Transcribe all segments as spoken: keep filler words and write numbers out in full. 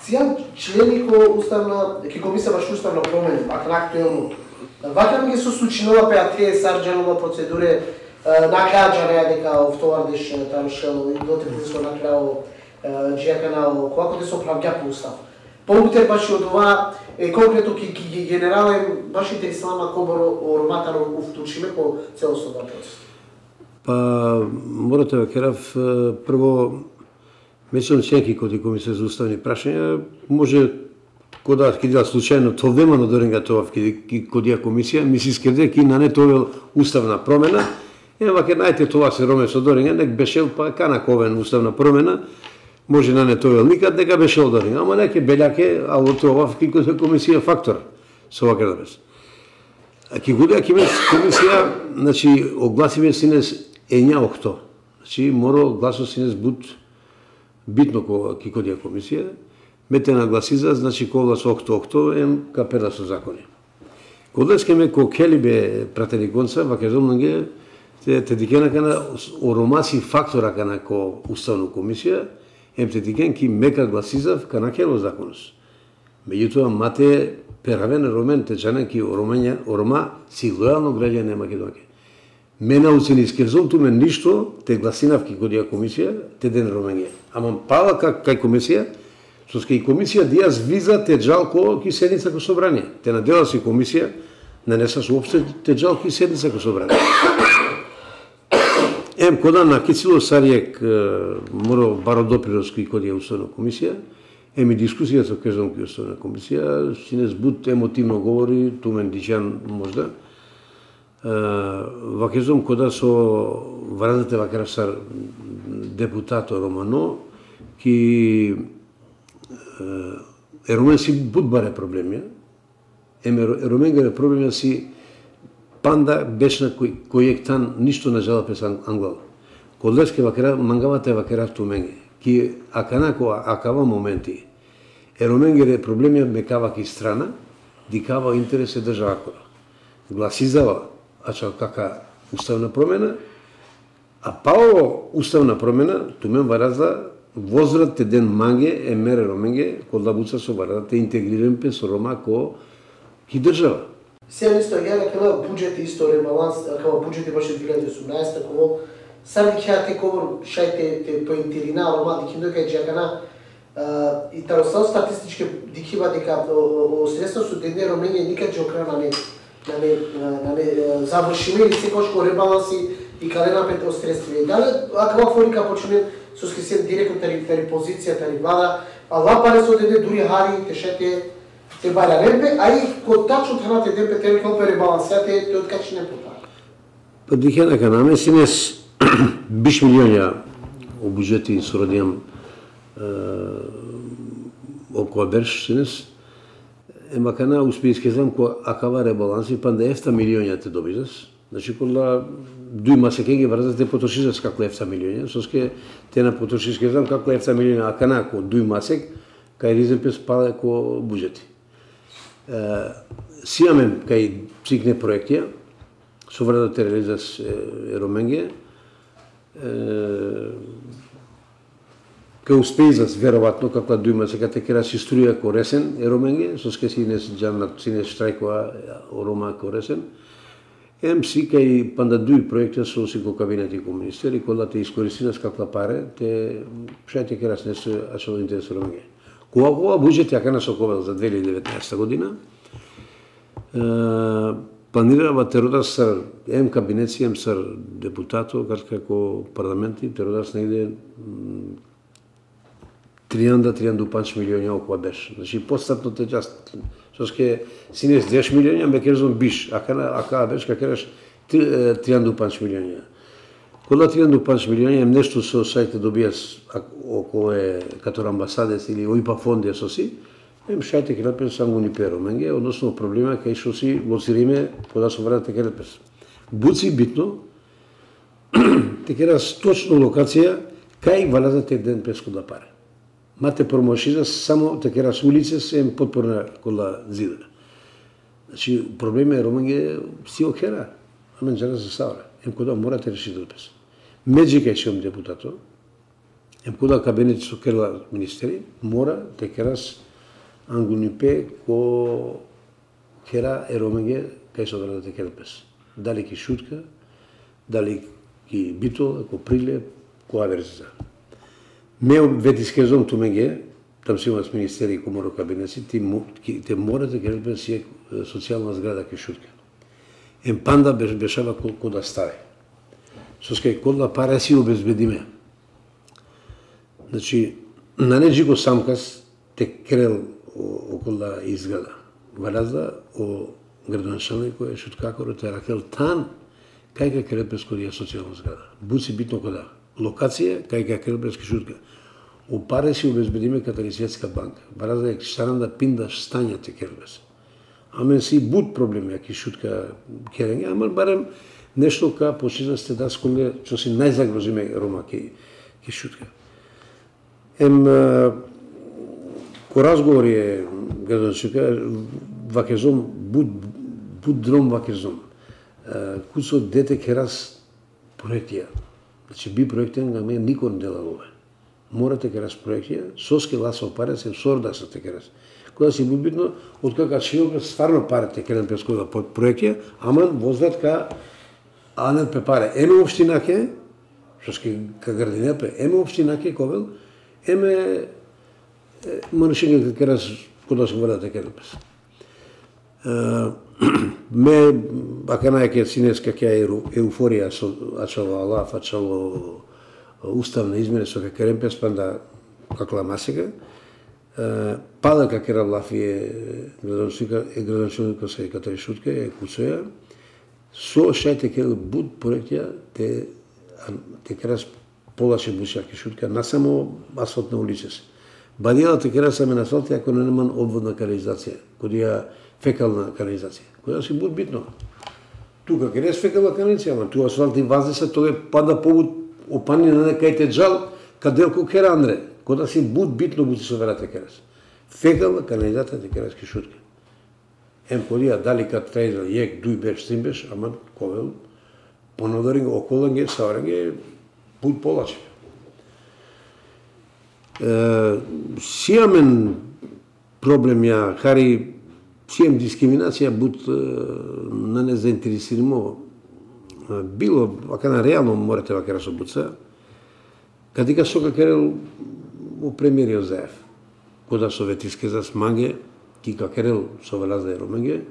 Цијан члени ко уставна, ке комисија баш уставна промена, ако актуелно. Вака ми се случинува пеа тие сарџанова процедуре, нагаѓање дека овтовардиш тамшел и дотре со накрао джеканао, колку те се оправѓа по устав. Полутер баш од ова е конкретно ки ги генерален баш интересна коборо ороматар уфтучиме по целосот процес. Па морате да керав прво меѓу членки кои комисија за уставни прашања може кога кидела случајно тоа вемано доренга тоа кодија комисија ми се искреде ки на не тоа уставна промена. Е вака најте тоа се роме со доренга нек беше па кана ковен уставна промена. Може на не тоа никад дека беше одорен, ама неке белјаке, а од тоа ки комисија фактор со вака да без. А ки годија ки комисија, значи огласиме синес ења окто. Значи мора гласо синес буд битно ко ки годија комисија. Мете нагласиза, значи ко глас окто окто ем капела со закони. Кодеске ме ко кели бе пратени конца, вака зомнанге те те дикена кана оромаси фактора кана ко уставна комисија. Емте диген ки мека гласизав кана кело законос. Меѓутоа мате перавен ромен течанен ки оромања орома си лојално граѓање на Македонија. Мене уцени искерзом туме ништо те гласинав ки годија комисија те ден ромање. Ама пала как кај комисија со скај комисија дијас виза те джалко ки седница ко собрание. Те надела си комисија нанеса соопште те джалки седница ко собрание. Ем кода на Кицило Саријек мора баро допринос кој кој е уставна комисија, еми дискусија со кажам кој уставна комисија, синес буд емотивно говори, тумен дичан можда. Вакезом кода со врадате вакарав сар депутато Романо, ки еромен си буд баре проблемија, еми еромен гаре проблемија си панда бешна кој кој ектан ништо не жала пес англал. Колеске вакера мангавате вакера туменге. Ки аканако акава моменти. Ероменгере проблемија мекава ки страна, дикава интерес е држава која. Гласизава ачал кака уставна промена, а пао уставна промена тумен варазда возрат те ден манге е мере роменге кода буца со варазда интегриран пе со рома ко ки држава. Сега исто ја кога буџет исто ребаланс, кога буџет беше две илјади и осумнаесета, кога сади ќе те ковор шајте те поинтерина рома дики дока джакана и таросал статистички дикива дека о средства со денер ромене никад джокрана не на не на не завршиме или секој што ребаланси и калена пет средства. Дали аква форика почне со скисен директно тари тари позиција тари влада, а лапаре со денер дури хари тешете те баря ремпе, а и кod тачно храната демпе те колпе ребалансијате те откачи не потаа. Па дихена канаме синес биш милионја у буџети сорадијам около берш синес ема кана успејске знам ко акава ребаланси панда ефта милионја те добизас. Значи кола дуј масеке ги врзате потрошизас како ефта милионја, соске те на потрошиске знам како ефта милионја, а кана ко дуј масек кај риземпес пала ко буџети. Сијамен кај цикне проектија, со врада те реализас ероменге, кај успејзас веројатно каква дујма сега те кера си струја ко ресен ероменге, со ске си не джанат си не штрајкова орома ко ресен. Ем си кај панда дуј проекта со си ко кабинети ко министери, кола те искористинас каква паре, те шај те кера си не се ачало интерес ероменге. Кога ова буџет ја кана соковел за две илјади и деветнаесета година, планирава те родас сар ем кабинеци, ем сар депутато, како парламенти, те родас негде тријанда тријанда и пет милиони околу беше. Значи постапно те част, соске синес десет милиони, ме керзом биш, а кана ака беше ка кераш тријанда и пет милиони. Кога тријанда и пет милиони ем нешто со сајте добијас околу е като амбасадес или ОИПА фонди со си, ем шајте ке напен само ни перо менге, односно проблема кај што си лоцириме кога со врата ке напес. Буци битно, те керас точно локација кај валаза те ден песко да паре. Мате промошиза само те керас улице се ем подпорна кола зида. Значи проблема е романге си окера, амен жара се савра. Ем кода морате решите да пес. Меđi кај шем депутато, Ем кога кабинет со керла министери, мора те керас ангунипе ко кера еромеге кај со да те керпес. Дали ки шутка, дали ки битола, ко прилеп, ко аверза. Ме ветискезом тумеге, там си имаш министери ко мора кабинети, ти те мора да керпес си социјална зграда ки шутка. Ем панда бешава ко да стави. Со скај кодла пара си обезбедиме. Значи, на неđi го самкас те крел около изграда. Варазда о градоначалник кој е шуткакоро те ракел тан кај ка крепес кој е социјална зграда. Буци битно кода. Локација кај ка крепес ки шутка. О паре си обезбедиме катари Светска банка. Варазда е шаранда пинда стања те крепес. Амен си буд проблеми аки шутка керење, ама барем нешто ка почина сте да сколе што си најзагрозиме рома ки ки шутка. Ем ко разговори е градоначалника вакезом буд буд дром вакезом. Кусо дете керас проектија. Значи би проектен га ме никој не делало. Морате керас проектија, соске ласо паре се сорда се те керас. Кога си битно од кака чијога стварно паре те керен пескова под проектија, ама возврат ка анел пе паре. Еме општина ке, што ски ка градина пе, еме општина ке ковел, еме манушење ке керас кога се врата ке керас. Ме аканај ке синеска ке еуфорија со ачало Алаф, ачало уставна измена со ке керемпес панда какла масека. Пада ка кера Лафи е градоначалник, е градоначалник се катари шутка е куцоја. Со шајте ке буд проектија те те керас полаше бусјаки шутка на само асфалтна улица се. Бадијала те керас саме на асфалт ако не неман обводна канализација, кодија фекална канализација. Која си буд битно. Тука керес фекална канализација, ама ту асфалт и вазеса тоа пада побуд опани на некај те джал каделко кера Андре. Кода си буд битно буди со верата керас. Фекална канализација те керас ки шутка. Ем кодија дали кад трајза јек, дуј беш, сим беш, ама ковел понадоринг околанге, савранге, буд полаче. Сијамен проблем ја, хари сијам дискриминација, буд на не заинтересиримо, било, вака на реално морате вака расобуца, кадика сока керел у премирио заев. Кода советиске за смаге, кика керел со велаза и ромеге,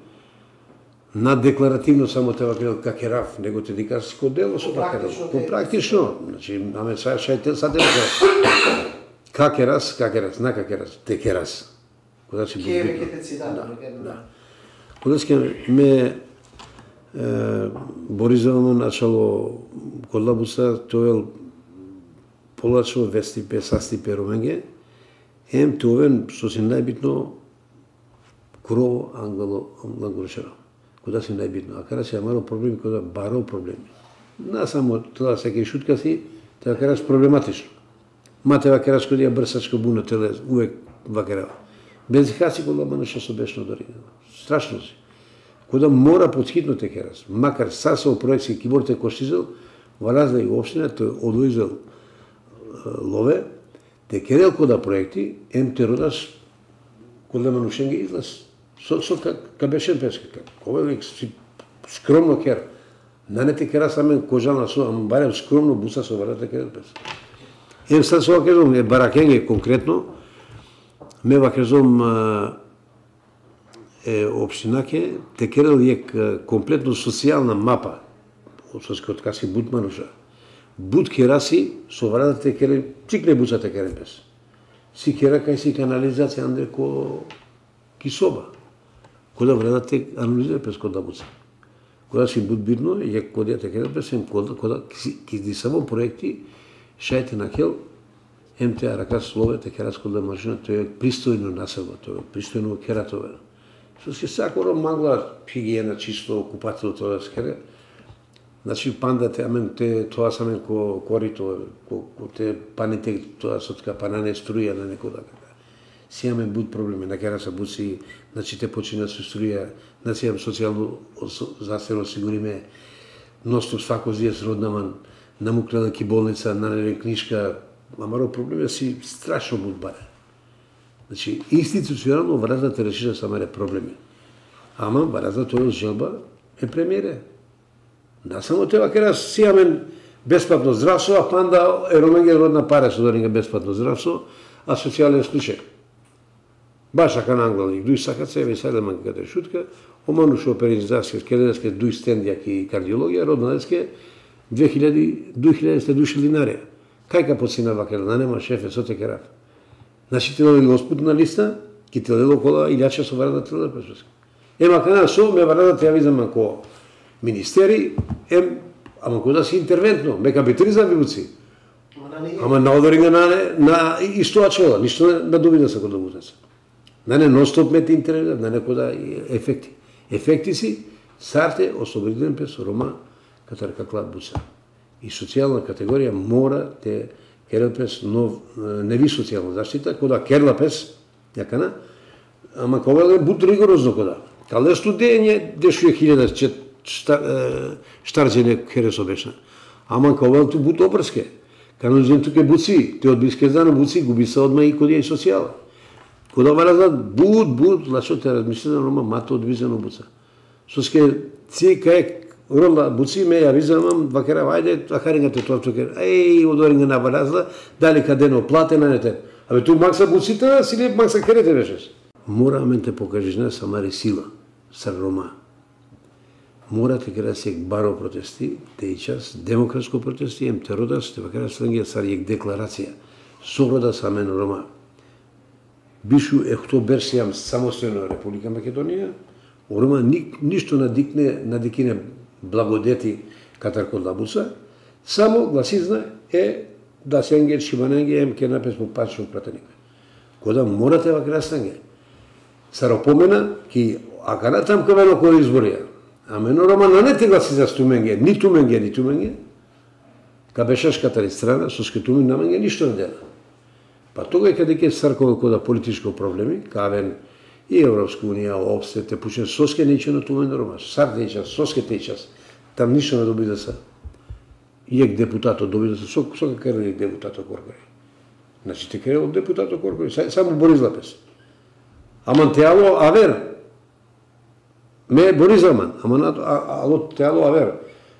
на декларативно само те вакерел какерав, него те дикаш ко дело со какерел. По практично, значи, аме са шајте са дело. Какерас, какерас, на какерас, те керас. Кога си Ке веќе те цитат, да. Кога си ме Боризовано начало кодлабуса, тоел полачо вестипе, састипе ромеге, ем товен, што си најбитно, крово ангело ангелошеро. Кога си најбитно. А кара си амаро проблеми, кога баро проблеми. На само тоа секој шутка си, тоа караш проблематично. Мате вакераш кога ја брсачко буна теле, увек вакерава. Без хаци кога мануша со бешно дори. Страшно си. Кога мора подхитно те керас. Макар са со проекција киборте коштизел, валаза и општина, тој одоизел лове, те керел кода проекти, ем те родаш кога манушен ги излаз. Со, со ка бешен песка. Кога си скромно кер. На не те кера самен кожана со, ама барем скромно буса со варата керел песка. Ем сад со кажам, е баракенге конкретно, ме вакезом е општинаке, те керел е комплетно социјална мапа, од кога си буд мануша. Буд кераси, со варата те керел, цикне буца те керел пес. Си кера кај си канализација, андре ко кисоба. Кода врата те анализира пес кода буца. Кода си буд битно, е кодија те керел пес, кода, кода ки ди само проекти, шајте на кел, ем те рака слове, те керас кода машина, тоа е пристојно населба, тоа е пристојно кератове. Со си сакоро магла хигиена, чисто, купател, тоа да скере. Значи пандате, амен те, тоа самен ко корито, ко, ко те паните, тоа со така панане струја на некода. Си имаме буд проблеми, на кера са буци, значи те почина со струја, значи имам социјално здравствено осигуриме, ноступ свако зија с роднаман, намуклена ки болница, нанеле книжка, Ама проблемот си страшно мудбаре. Значи, институционално варазата решира самаре проблеми. Ама варазата тој желба е премиере. Да, само тева кера си имаме бесплатно здравство, а панда е ромење родна пара со доринга бесплатно здравство, а социјален случај. Баш така на англалник, дуј сакат се, веселе манката шутка, омануш оперизација, скеледеске, дуј стендјак и кардиологија, роднадеске, две хиляди души динарија. Кајка поцина вака, да нема шефе, со те керав. Значи, ти дојде госпутна листа, ки ти дојде около илјача со варада труда пешоска. Ема кана со, ме варада те ја видам ако министери, ем, ама кога си интервентно, ме капитризам ви буци. Ама на одоринга на, на истоа чела, ништо на дубина са кода бутеца. На не нон-стоп мете интервент, на не кода ефекти. Ефекти си, сарте, освободителен пес, рома, катар каклад буца. И социјална категорија мора те керел пес нов, не ви социјална заштита, кода керла пес, јакана, ама кога е бут ригорозно кода. Кале студење, дешуе хилјада штарджене хересо бешна. Ама кога ту бут опрске. Кано жен туке буци, те од биске зана буци, губи се одма и кодија и социјала. Кода варазат бут, бут, лашо те размислено, рома мато одвизено буца. Соске ци кај рола буци ме ја визамам, вакера, ајде, ахарингате тоа туке, еј, одоринга на варазла, дали кадено платена, не те. Абе, ту макса буците, сили макса керете вешеш. Мора мен те покажеш не самари сила, сар рома. Мора те кера сек баро протести, те и час, демократско протести, ем те родас, те вакера сленгија сар јек декларација. Сорода са мен рома. Бишу ехто берсијам самостојна Република Македонија, рома ни, ништо надикне, надикине благодети катар код лабуса, само гласизна е да сенге шибаненге ем ке напес по пачно пратеника. Кода морате вакера сленге. Сар опомена ки акана там кавено кој изборија. А мено рома на не те гласи за стуменге, ни туменге, ни туменге. Ка бешаш катари страна, со скетумен наменге ништо не дела. Па тога е каде ке саркове кода политичко проблеми, кавен и Европска унија, обсе, те пучен соске нечено тумен рома, сар те час, соске те час. Там ништо не доби да са. Иек депутато доби да са, со, со какаро иек депутато Коркори. Значи те керел депутато Коркори, само Борис Лапес. Аман теало авер. Ме Борис Аман, ама на ало теало авер.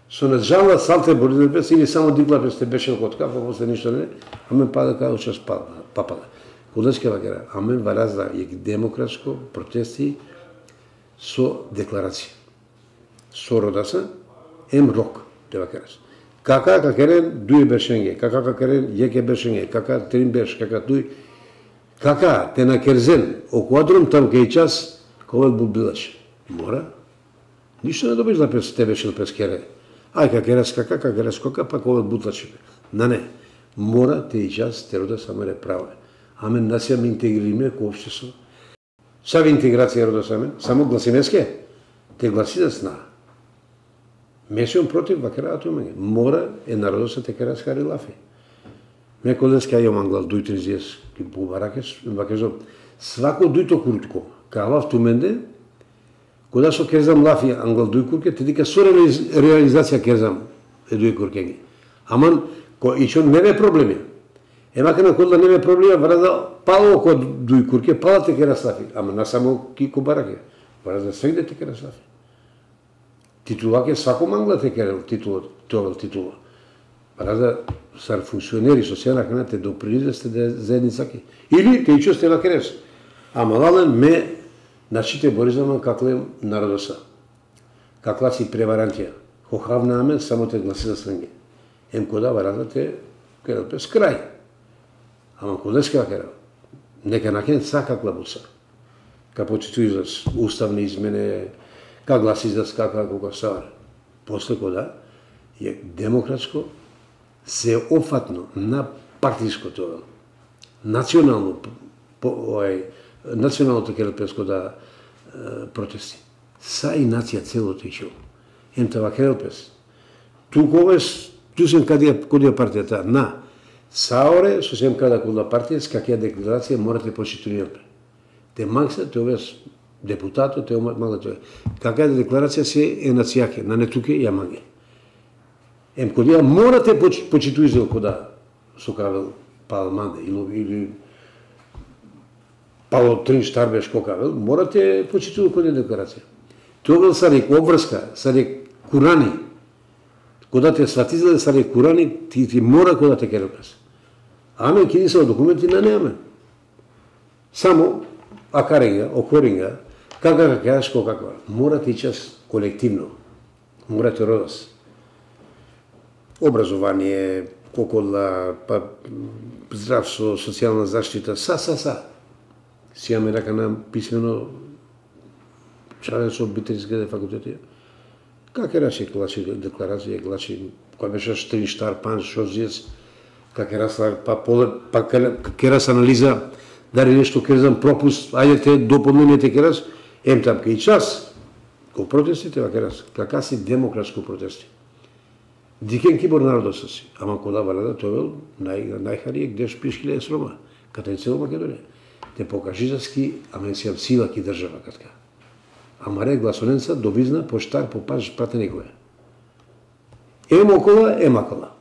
Со не жалва салте Борис Лапес или само Диклапес те беше код кафа, после ништо не, амен пада као час папада. Кудеске вакера, амен варазда јек демократско протести со декларација. Со родаса, ем рок, те вакерас. Кака какерен дуј бершенге, кака какерен јеке бершенге, кака трин берш, кака дуј, кака те на керзен, окуадрум там кај час, ковел бубилаш. Мора. Ништо не добиш да пес, те беше да пес кере. Ај какерас кака, какерас кока, па ковел бутлаче. На не. Мора те и час, те рода самаре права. Амен насија ме интегриме ко општество. Сави интеграција рода самен, само гласинеске, те гласи да сна. Мешион против вакераато имање. Мора е народот се текера скари лафи. Ме колеска ја манглал дуј тризиес ки бубаракеш, вакежо свако дујто куртко. Кава туменде, кога со керзам лафи англал дуј курке, те дика со реализација керзам е дуј куркеги. Аман ко и што неме проблеми. Ема кога кога неме проблеми, врада пало ко дуј курке, пала те кера слафи. Ама на само ки кубараке. Врада свегде те кера слафи. Титулаке свако мангла те керел титулот, тоа титула. Врада сар функционери социјална кана те допринесте да заедницаки. Или те ичо сте на керес. Ама лален ме начите Боризаман какле народоса. Какла си преварантија. Хохавна амен само те гласи за сленге. Ем кода врада те керел пес крај. Ама кодеска керел. Нека накен сака клабуса. Ка почиту за уставни измене, ка гласи за скака кога сар. После кода е демократско се офатно на партиското национално ој националното керелпеско да протести. Са и нација целото ишо. Ентава керелпес. Туковес, ту сем кадија кодија партијата на Саоре, со сем када кода партија, с какја декларација морате почитувате. Те макса, те овес депутато, те мага тоа. Какја декларација се е нацијаке, на нетуке ја маге. Ем кодија морате почитувате кода со кавел Павел Манде или, или Павел Тринч Тарбеш Кокавел, морате почитува кој декларација. Тоа са рек обврска, са рек Курани. Кога те сватизале са рек Курани, ти, ти мора кога те керекас. Амен ки се документи на неамен. Само акаринга, окоринга, кака кажеш каква. Мора ти час колективно. Мора те родас. Образование, кокола, па здравство, социјална заштита, са, са, са. Си имаме рака на писмено чарен со битериските факултети. Как е рачи клачи декларација, клачи, кој беше Штрин Штар, Пан Шозиец, как е расла, па поле, па керас анализа, дали нешто керзам пропуст, ајдете доподневните керас, ем тапка и час. Ко протестите, ва керас, кака си демократско протести. Дикен кибор народот са си, ама кода валада, тоа бил нај, најхарија, где шпишкиле е срома, ката е цела Македонија. Те покажизаски, ама си сила ки држава катка. Ама ре гласоненца, добизна, поштар, попаш, прате некоја. Е мокола, е макола.